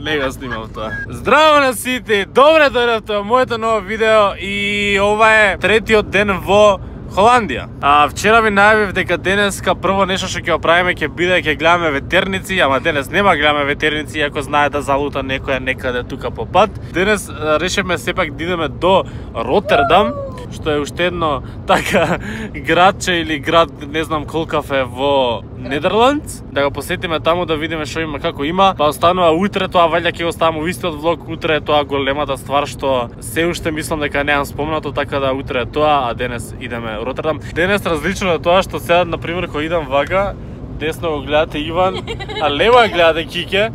Не го снимав тоа. Здраво на сите, добре дојдовте во моето ново видео и ова е третиот ден во Холандија. Вчера ви најавив дека денеска прво нешто што ќе го правиме ќе биде ќе гледаме ветерници, ама денес нема гледаме ветерници, иако знае да залута некоја некаде тука по пат. Денес решивме сепак да идеме до Ротердам, што е уште едно така градче или град, не знам колкав е во Нидерландс, да го посетиме таму да видиме што има, како има. Па останува утре, тоа ваljda ќе го ставам во истиот влог, утре е тоа големата ствар што се уште мислам дека неам спомнато, така да утре е тоа, а денес идеме во Ротердам. Денес различно е тоа што сега на пример кога идам вака, десно го гледате Иван, а лево ја гледате Кике.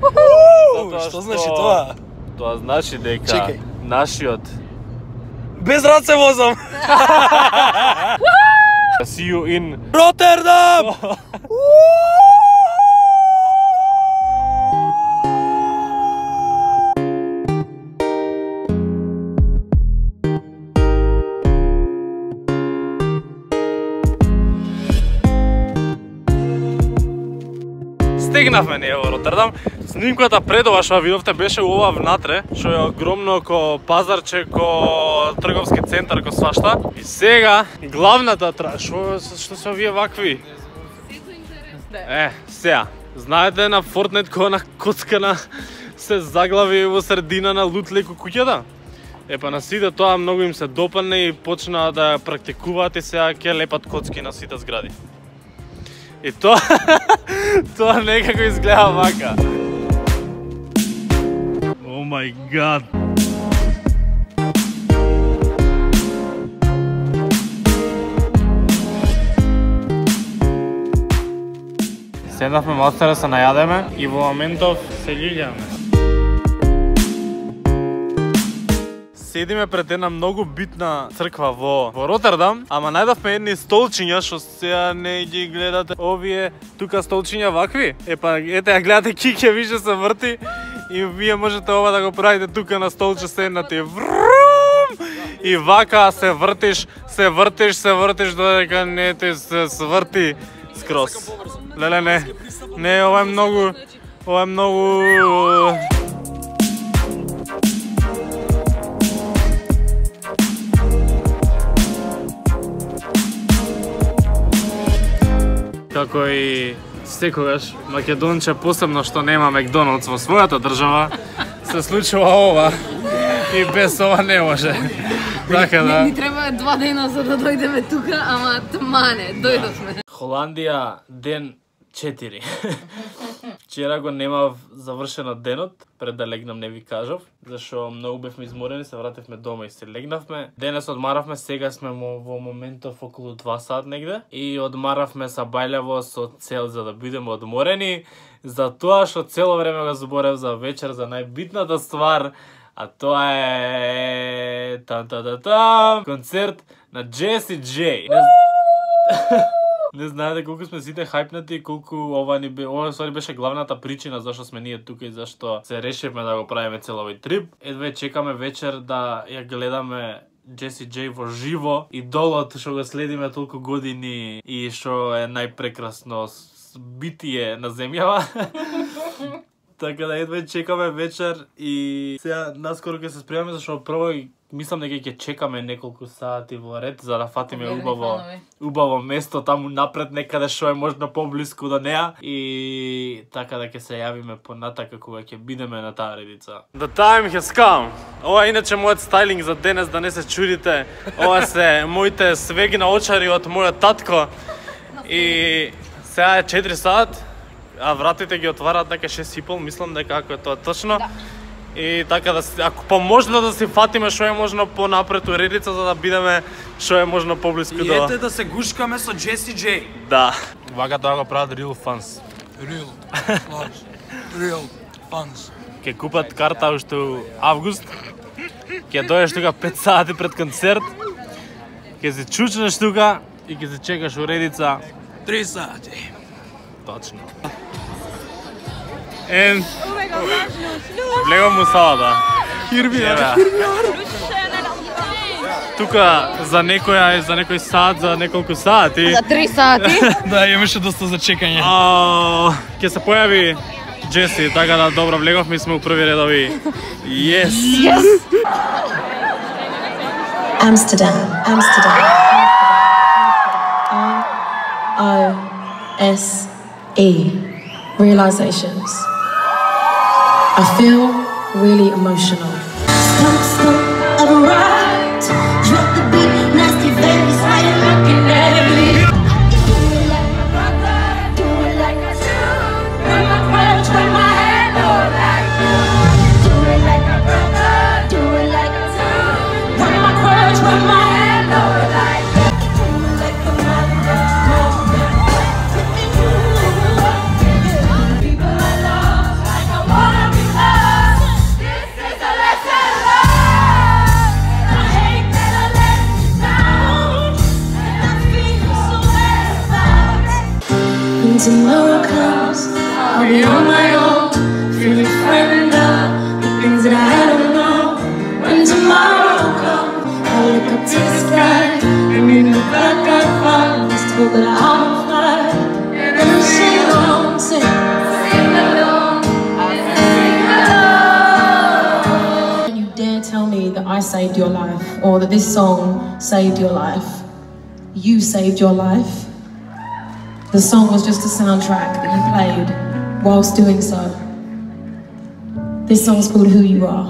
Што значи тоа? Тоа значи дека нашиот без раце возам. See you in Ротердам. Стигнавме ние во Ротердам. Снимката пред ова што видовте беше ова внатре, што е огромно ко пазарче, ко трговски центар, ко свашта. И сега главната што се овие вакви? Сега, знаете на Fortnite кога на коцкана се заглави во средина на лут леко куќата? Па на сите тоа многу им се допадне и почнаа да практикуваат и сега ќе лепат коцки на сите згради. И тоа тоа некако изгледа вака. Oh my god. Седнавме малце да се најадеме и во моментов се љуѓаме. Седиме пред една многу битна црква во Ротердам, ама најдовме едни столчиња што сега не ги гледате. Овие тука столчиња вакви. Па ете ја гледате Кике више се врти и вие можете ова да го правите тука на столче седнати. И вака се вртиш додека не те се сврти скрос. Леле не, ова е многу како и секогаш македонче, посебно што нема Макдоналдс во својата држава, се случува ова и без ова не може. Така да. Ни треба 2 дена за да дојдеме тука, ама тмане, дојдовме. Холандија ден 4. Вчера го немав завршено денот, пред да легнам не ви кажав, зашто многу бевме изморени, се вративме дома и се легнавме. Денес одмаравме, сега сме во моментов околу 2 сат негде и одмаравме са бајлево со цел за да бидеме одморени, за тоа што цело време го зборев за вечер, за најбитната ствар, а тоа е концерт на Jessie J. Не знаете колку сме сите хајпнати и колку ова беше главната причина зашто сме ние тука и зашто се решивме да го правиме цел овој трип. Едве чекаме вечер да ја гледаме Jessie J во живо, идолот што го следиме толку години и што е најпрекрасно битие на земјава. Така да едве чекаме вечер и сега наскоро ќе се спремаме зашто прво мислам дека ќе чекаме неколку сати во ред за да фатиме убаво место таму напред некаде што е можно поблиску до неа и така да ќе се јавиме понатака кога ќе бидеме на таа редица. The time has come. Ова е иначе мојот стайлинг за денес, да не се чудите. Ова се моите свегна очари од мојот татко. И сега е 4 сат, а вратите ги отвараат дека 6:30, мислам дека ако е тоа точно. И така да ако поможно да се фатиме што е можно понапред у редица за да бидеме што е можно поблиску до. И ете да се гушкаме со Jessie J. Да. Вака тоа го прават real fans. Real fans. Ке купат карта уште у август. Ке дојдеш тука 5 сати пред концерт. Ке се чучнеш тука и ке се чекаш у редица 3 сати. Точно. Влегам му салата. Хирбија. Тука за некој сат, за неколку сати. За 3 сати. Да, имаше доста за чекање. Ќе се појави Джеси, така да добро влеговме, сме у први редови. Yes! Amsterdam. R-O-S-E. Realizations. I feel really emotional. I've arrived. Drop the beat, nasty baby, why you looking at me? Do it like my brother, do it like I should. When my words, when my head, Lord, like you. Do it like my brother, do it like I should. When my words, when my head, Lord, like you. Do it like a mother, people I love, like I wanna be loved. This is a lesson learned. I hate that I let you down, and I feel so bad about it. When tomorrow comes, I'll be on my own, feeling frightened of the things that I don't know. When tomorrow comes, I'll look up to the sky, and in the back I find this hope that I'll fly, and then I'll sing along, sing along, sing along. When you dare tell me that I saved your life, or that this song saved your life, you saved your life. The song was just a soundtrack that you played whilst doing so. This song's called Who You Are.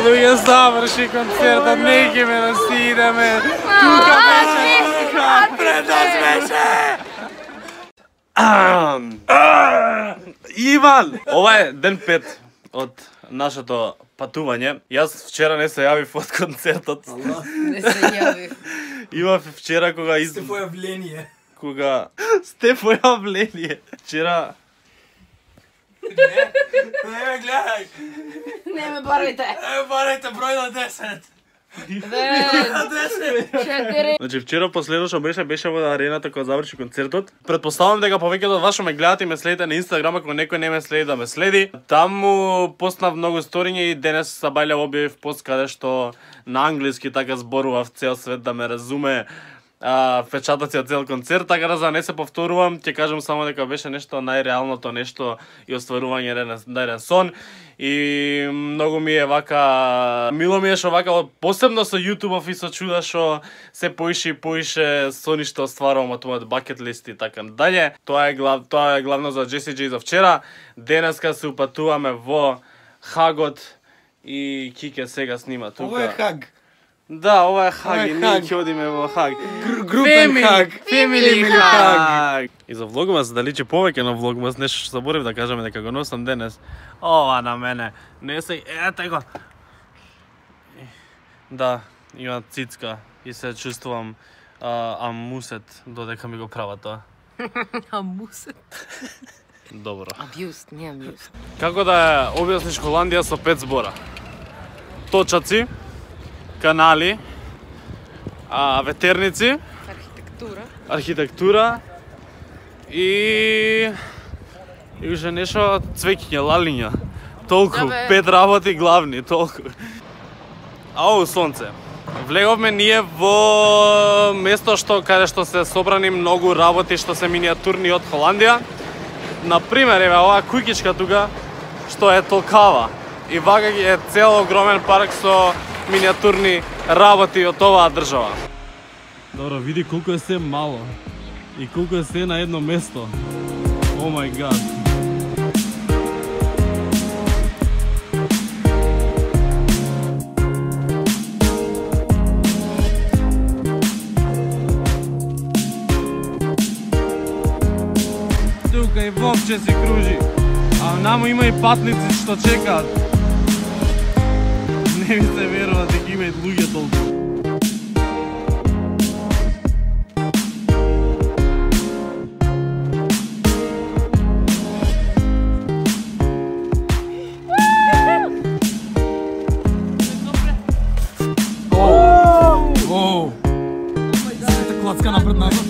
Луѓе, заврши концертот, не ќе ме насидеме. Тука беше, пред нас беше. Иван! Ова е ден 5 од нашето патување. Јас вчера не се јавив од концертот. Не се јавив. Имав вчера кога Сте појавление. Кога сте појавление. Вчера Не ме гледај. Не ме барајте. Барајте број на 10. 4. Значи вчера последно што беше во арената кога заврши концертот. Предпоставувам дека повеќето од вас што ме гледате и ме следите на Инстаграм, ако некој не ме следи да ме следи. Таму постнав многу сториња и денес Сабајле објавив пост каде што на англиски така зборував цел свет да ме разуме. Впечатоци од цел концерт, така да за не се повторувам, ќе кажам само дека беше нешто најреалното нешто и остварување еден сон. И многу ми е вака, мило ми е што вака, посебно со YouTube и со чуда што се поише и поише сони што остварувам од мојот бакет лист и така далje. Тоа е главно за Jessie J за вчера. Денеска се упатуваме во Хагот и Кике сега снима тука. Ова е Хаг. Да, ова е Хаг и ние ќе одиме во Хаг. Групен Хаг. Family Хаг. И за влогмас, да личи повеќе на влогмас, нешто што заборев да кажеме дека го носам денес. Ова на мене. Не се, ете го. Да, има цицка и се чувствувам амусет додека ми го права тоа. Амусет. Добро. Абјуст, не амјуст. Како да објасниш Холандија со 5 збора? Точаци, канали, ветерници, архитектура и уште нешто цвеќиња, лалиња. Толку, 5 работи главни, толку. Ау, сонце. Влеговме ние во место каде што се собрани многу работи што се миниатурни од Холандија. Например, еве оваа куќичка тука што е толкава. И вака е цел огромен парк со миниатурни работи од оваа држава. Добро, види колку е се мало. И колку е се на едно место. О мај гад. Тука и вовче се кружи. А намо има и патници што чекаат. Не ми се верува дека има и луѓе толку. Клацка напред назад.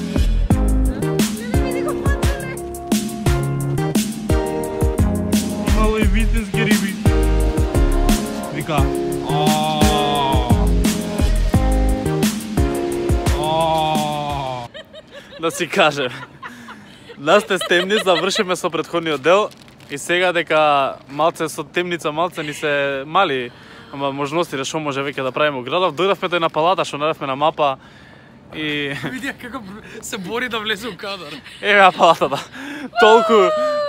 Имало и вистински риби. Вика. Да си кажем. Нас те темни, завршиме со претходниот дел и сега дека малце со темница малце ни се мали можности да што може веќе да правиме во градов, дојдовме тој на палата што наредовме на мапа и Види како се бори да влезе у кадар. еве палатата.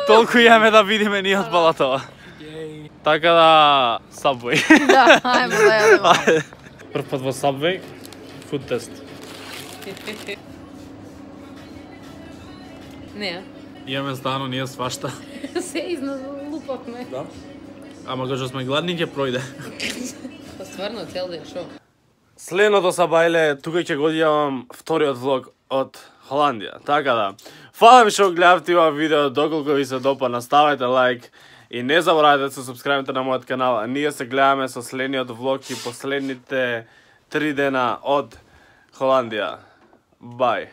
Толку имаме да видиме ние од палатава. Така да Subway. Да, ајмо да јадеме. Прв пат во Subway, food test. Не, Имаме стано ние свашта. се изналупавме. Да. Ама кога сме гладни ќе пројде. Па стварно, цел ден, шо? Следното са бајле, тука ќе го одјавам вториот влог од Холандија. Така да, фала ви што гледавте ова видео, доколку ви се допадна, ставајте лайк и не заборавајте да се субскрајбите на мојот канал. А ние се гледаме со следниот влог и последните 3 дена од Холандија. Бај.